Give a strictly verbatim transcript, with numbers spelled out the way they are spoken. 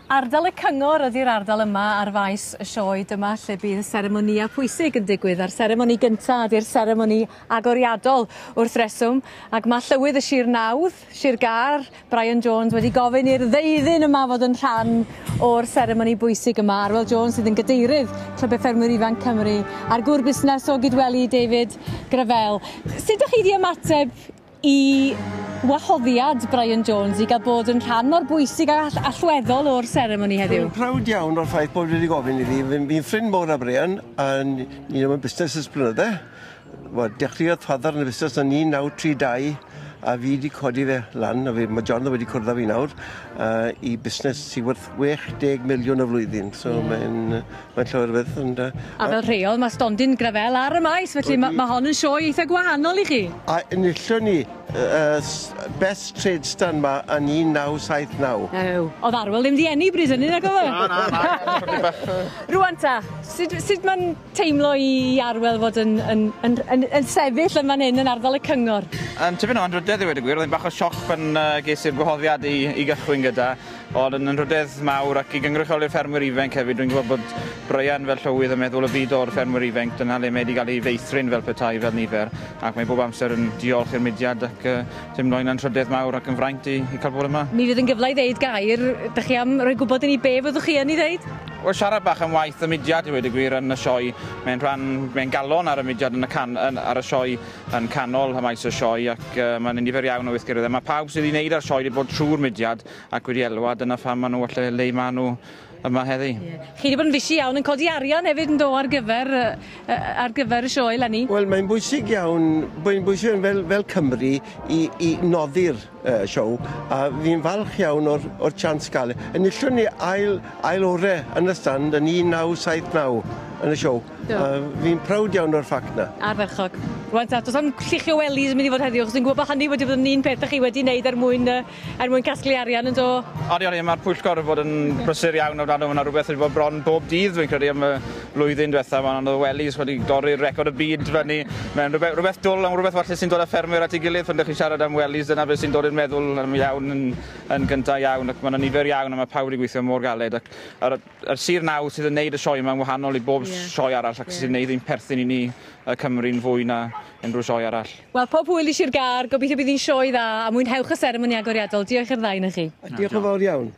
Ardal y Cyngor ydy'r ardal yma ar faes y sioe. Dyma lle bydd y seremonïau pwysig yn digwydd, a'r seremoni gynta ydy'r seremoni agoriadol wrth reswm, ac mae Llywydd y Sir Nawdd, Sir Gâr, Brian Jones, wedi gofyn i'r ddeuddyn yma fod yn rhan o'r seremoni bwysig yma. Arwel Jones sydd yn gadeirydd Clybau Ffermwyr Ifanc Cymru, a'r gŵr busnes o Gydweli, David Gravell. Sut ydych chi wedi ymateb i wahoddiad Brian Jones i gael bod yn rhan mor bwysig a all allweddol o'r seremoni heddiw? Dwi'n proud iawn o'r ffaith bod wedi gofyn i fi. Fi'n fi ffrind mawr â Brian, a ni ddim yn busnes ers blynydde. Wel, dechreuodd father yn y busnes yn un naw tri dau, a fi wedi codi fe lan, a fi, mae John wedi cwrdd â fi nawr, uh, i busnes sydd werth chwe deg miliwn y flwyddyn. So yeah. mae'n mae llawer o beth. And, uh, a fel rheol, mae stondin Gravell ar y maes, felly mae ma hon yn sioe eitha gwahanol i chi. A enillon ni uh, Best Trade Stand ma yn un naw saith naw. Ew. Oedd Arwel ddim di eni bryd hynny, nag oedd e? Na, na, na. Rwan ta, sut, sut mae'n teimlo i Arwel fod yn, yn, yn, yn, yn sefyll yn fan hyn yn ardal y Cyngor? Um, tipyn o anrhydedd i weud y gwir, oedd hi'n bach o sioc pan uh, ges i'r gwahoddiad i, i gychwyn gyda, ond yn anrhydedd mawr ac i gynrychioli'r ffermwyr ifanc hefyd. Dwi'n gwybod bod Brian fel llywydd yn meddwl y byd o'r ffermwyr ifanc, dyna le mae wedi cael ei feithrin fel petai fel nifer, ac mae bob amser yn diolch i'r mudiad ac uh, teimlo'n anrhydedd mawr ac yn fraint i, i cael bod yma. Mi fydd yn gyfle i ddeud gair, dych chi am roi gwybod i ni be fyddwch chi yn ei ddeud? Wel, siarad bach am waith y mudiad i weud y gwir yn y sioe. Mae'n rhan, mae'n galon ar y mudiad yn y can, yn, ar y sioe yn canol y maes y sioe, ac uh, mae'n nifer iawn o weithgareddau. Mae pawb sydd wedi wneud ar sioe wedi bod trwy'r mudiad ac wedi elwa, dyna pham maen nhw falle le maen nhw yma heddi. Yeah. Chi wedi bod yn fisi iawn yn codi arian hefyd yn do ar gyfer, uh, ar gyfer y sioe eleni? Wel, mae'n bwysig iawn, mae'n bwysig iawn fel, fel Cymru i, i noddi'r uh, sioe, a fi'n falch iawn o'r, o'r chance gael. Enillon ni ail, ail ore yn y stand yn un naw saith naw yn y sioe. Do. A fi'n proud iawn o'r ffact na. Ardderchog. Rwan ta, does am lluchio wellies yn mynd i fod heddiw, achos dwi'n gwybod bod hynny wedi bod yn un peth ych chi wedi wneud er mwyn, er mwyn casglu arian yn do. Odi, odi, mae'r pwyllgor wedi bod yn brysur iawn o dan, mae yna rhywbeth wedi bod bron bob dydd, dwi'n credu, am y flwyddyn diwetha. Mae yna wellies wedi dorri'r record y byd fyny. Mae'n rhywbeth, rhywbeth dwl, am rhywbeth falle sy'n dod â ffermwyr at ei gilydd pan ydych chi'n siarad am wellies, dyna beth sy'n dod i'r meddwl am iawn yn, yn gyntaf iawn, ac mae yna nifer iawn a mae pawb wedi gweithio mor galed. Ac yr, yr sir nawdd sydd yn neud y sioe yma'n wahanol i bob Ie. sioe arall ac Ie. sy'n neud ein perthyn i ni y Cymru'n fwy na unrhyw sioe arall. Wel, pob hwyl i Sir Gâr, gobeithio bydd hi'n sioe dda, a mwynhewch y seremoni agoriadol. Diolch i'r ddau na chi. A diolch yn fawr iawn.